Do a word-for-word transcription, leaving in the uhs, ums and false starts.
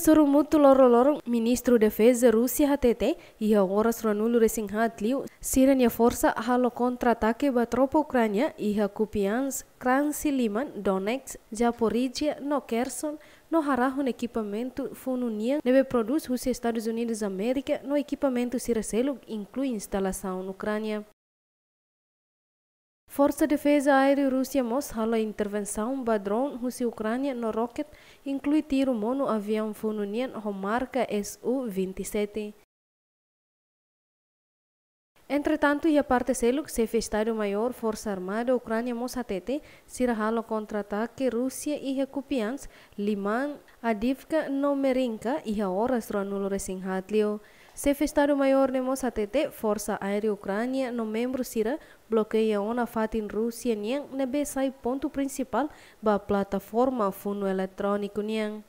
Sorumutu loroloron, Ministru Defeza Rúsia hatete, iha oras ruanulu-resin-haat liu, sira-nia forsa halo kontra-atake ba tropa Ukránia iha Kupiansk, Kransi Liman, Donetsk, Zaporizhia no Kherson, no harahun ekipamentu funu nian ne'ebé prodús husi Estadus Unidus Amérika no ekipamentu sira seluk inklui instalasaun Ukránia. Forsa Defeza Aérea Rúsia mós halo intervensaun ba drone husi Ukránia no roket, inklui tiru monu aviaun funu nian ho marka S U vinte e sete. Entretantu, iha parte seluk, Xefe Estadu-Maiór Forsa Armada Ukránia mós hatete, sira halo kontra-atake Rúsia iha Kupiansk, Liman, Avdiivka no Marinka iha oras ruanulu-resin-haat liu. Xefe Estadu-Maiór ne'e mós hatete, Forsa Aérea Ukránia no membru sira blokeia ona fatin Rúsia nian ne'ebé sai pontu prinsipál ba plataforma funu eletróniku nian.